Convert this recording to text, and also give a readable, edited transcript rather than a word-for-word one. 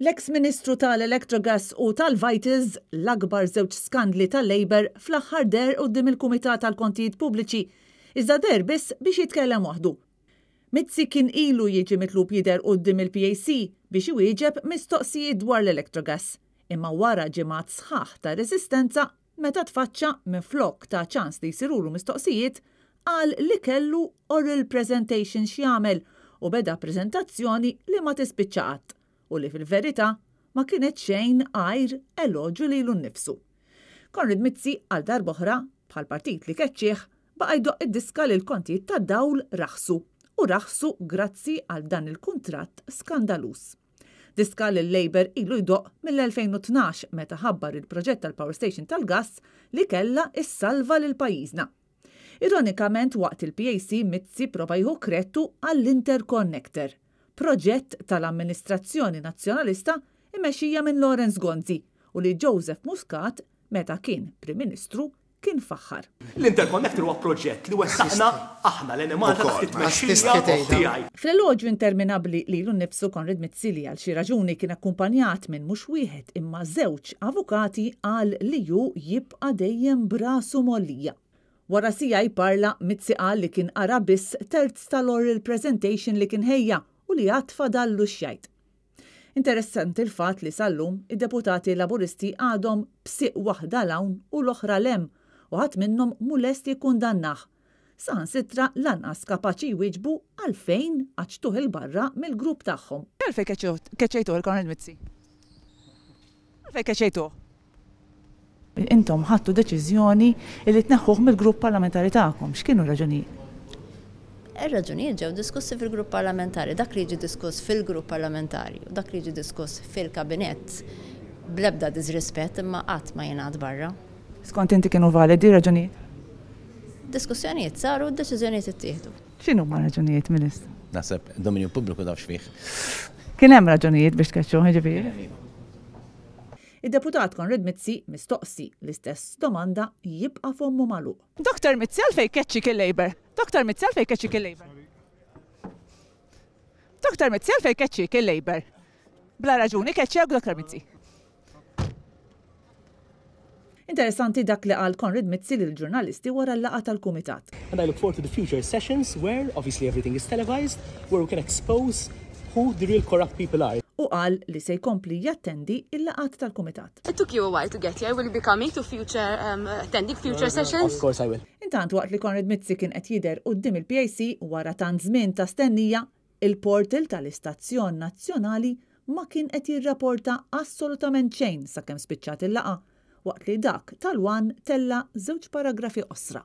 L-eks Ministru tal-Electrogas u tal-Vitals, l-akbar żewġ skandli tal-Labour, fl-aħħar deher quddiem il-Kumitat għall-Kontijiet Pubbliċi, iżda deher biss biex jitkellem waħdu. Mizzi kien ilu jiġi mitlub jidher quddiem il-PAC biex iwieġeb mistoqsijiet dwar l-Electrogas, imma wara ġimgħat sħaħ ta' reżistenza, meta tfaċċa, minflok ta ċans li jsirulu mistoqsijiet, qal li kellu oral presentation x'jagħmel u beda preżentazzjoni li ma tispiċċa qatt u li fil-verità ma kienet xejn għajr eloġju lilu nnifsu. Konrad Mizzi għal darb'oħra, bħall-partit li keċċieh, baqa' jdoqq id-diska li l-kontijiet tad-dawl raħsu u raħsu grazzi għal dan il-kuntratt skandaluż. Diska li l-Labour ilu jdoqq mill-2012 meta ħabbar il-proġett tal-power station tal-gass li kellha ssalva lil pajjiżna. Ironikament waqt il-PAC Mizzi prova jieħu kredtu għall-interconnector, proġett tal-amministrazzjoni Nazzjonalista mmexxija minn Lawrence Gonzi u li Joseph Muscat meta kien Prim Ministru kien faħħar. L-interconnector huwa proġett li wettaqna aħna l-Enemalta taħt it-tmexxija tiegħi. Fl-eloġju interminabbli lilu nnifsu Konrad Mizzi li għal xi raġuni kien akkumpanjat minn mhux wieħed imma żewġ avukati qal li hu jibqa' dejjem b'rasu mgħollija. Wara siegħa jparla, Mizzi qal li kien qara biss terz tal-oral presentation li kien ħejja u li għad fadallu x'jgħid. Interessanti l-fatt li sal-lum id-deputati Laburisti għadhom b'sieq waħda 'l hawn u l-oħra 'l hemm u ħadd minnhom mhu lest jikkundannah. Saħansitra lanqas kapaċi jwieġbu għalfejn qaċċtuh 'il barra mill-grupp tagħhom. Għalfejn keċċejtuh 'il Konrad Mizzi? Għalfejn keċċejtuh? Intom ħadtu deċiżjoni li tneħħuh mill-grupp parlamentari tagħkom. X'kienu r-raġunijiet? Ir-raġunijiet ġew diskussi fil-grupp parlamentari. Dak li jiġi diskuss fil-grupp parlamentari u dak li jiġi diskuss fil-kabinett bl-ebda diżrispett imma qatt ma jingħad barra. Skont inti kienu validi r-raġunijiet? Diskussjonijiet saru u d-deċiżjonijiet ittieħdu. X'inhuma r-raġunijiet, Ministru? Naħseb dominju pubbliku taf x'fih. Kien hemm raġunijiet biex tkeċċuh, jiġifieri? Id-Deputat Konrad Mizzi mistoqsi l-istess domanda jibqa' fommu magħluq. Dr Mizzi għalfejn keċċik il-Labour? Dr Mizzi għalfejn keċċik il-Labour? Dr Mizzi għalfejn keċċik il-Labour? Bla raġuni keċċewk Dr Mizzi. Interessanti dak li qal Konrad Mizzi lill-ġurnalisti wara l-laqgħa tal-Kumitat. And I look forward to the future sessions where, obviously everything is televised, where we can expose who the real corrupt people are. Hu qal li se jkompli jattendi l-laqgħat tal-Kumitat. It took you a while to get here, will you be coming to future, um, attending future sessions? Of course I will. Intant waqt li Konrad Mizzi kien qed jidher quddiem il-PAC wara tant żmien ta' stennija, il-portal tal-istazzjon nazzjonali ma kien qed jirraporta assolutament xejn sakemm spiċċat il-laqgħa, waqt li dak tal-One tella' żewġ paragrafi qosra.